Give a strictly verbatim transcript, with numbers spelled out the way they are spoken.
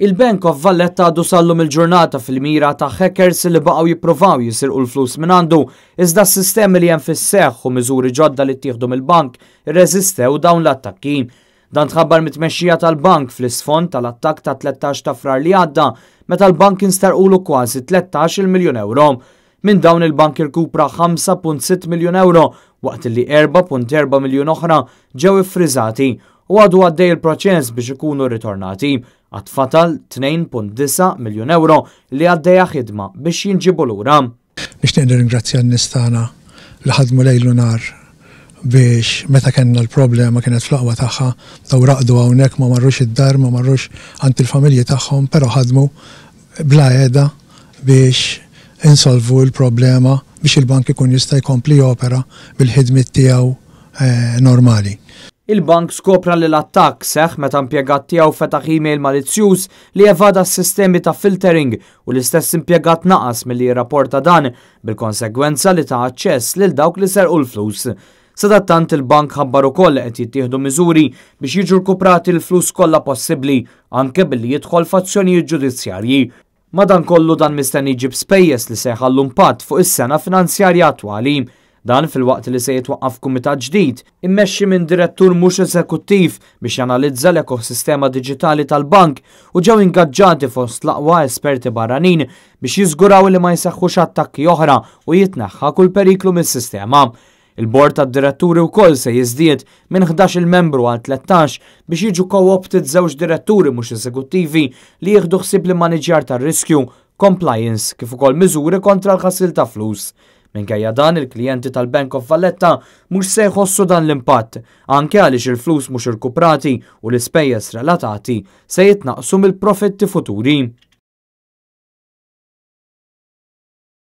Il-Bank of Valletta għadu sal-lum il-ġurnata fil-mira ta' hackers li baqgħu jippruvaw jisirqu l-flus minn għandu, iżda s-sistemi li hemm fis-seħħ u miżuri ġodda li ttieħdu mill-bank irreżistew dawn l-attakki. Dan tħabbar mit-tmexxija tal-bank fl-isfond tal-attakk ta' tlettax ta' Frar li għadda, meta l-bank instarqulu kważi tlettax-il miljun euro. Minn dawn il-bank irkupra ħamsa punt sitt miljun euro, waqt li erba' punt erba' miljun oħra ġew iffriżati u għadu għaddej il-proċess biex ikunu ritornati. Għad fatal tnejn punt disa' miljun euro li għaddejja ħidma biex jinġibu lura. Nixtieq nirringrazzja n-nies tagħna li ħadmu lejl u nar biex meta kellna l-problema kienet fl-aqwa tagħha, daw raqdu hawnhekk, ma marrux id-dar, ma marrux għand il-familji tagħhom, però ħadmu bla qiegħda biex insolvu l-problema biex il-bank ikun jista' jkompli jopera bil-ħidmiet tiegħu, eh, normali. Il-bank skopra li l-attakk seħħ meta impjegat tiegħu fetaħ email malizzjuż li evada s-sistemi ta' filtering u l-istess impjegat naqas milli jirrapporta dan, bil-konsegwenza li ta' aċċess lil dawk li serqu l-flus. Sadattant il-bank ħabbar ukoll li qed jittieħdu miżuri biex jiġu rkuprati l-flus kollha possibbli, anke billi jidħol f'azzjonijiet ġudizzjarji. Madankollu dan mistenni jġib spejjeż li se jħallu impatt fuq is-sena finanzjarja attwali. Dan filwaqt li se jitwaqqaf kumitat ġdid immexxi minn direttur mhux eżekuttiv biex janalizza l-ekosistema diġitali tal-bank u ġew ingaġġati fost l-aqwa esperti barranin biex jiżguraw li ma jseħħux attakki oħra u jitneħħa kull periklu mis-sistema. Il-bord tad-diretturi wkoll se jiżdied minn ħdax-il membru għal tlettax biex jiġu co-opted żewġ diretturi mhux eżekuttivi li jieħdu ħsieb l-immaniġjar tar-riskju, compliance kif ukoll miżuri kontra l-ħasil ta' flus. Minkejja dan, il-klijenti tal-Bank of Valletta mhux se jħossu dan l-impatt, anke għaliex il-flus mhux irkuprati u l-ispejjeż relatati se jitnaqsu mill-profitti futuri.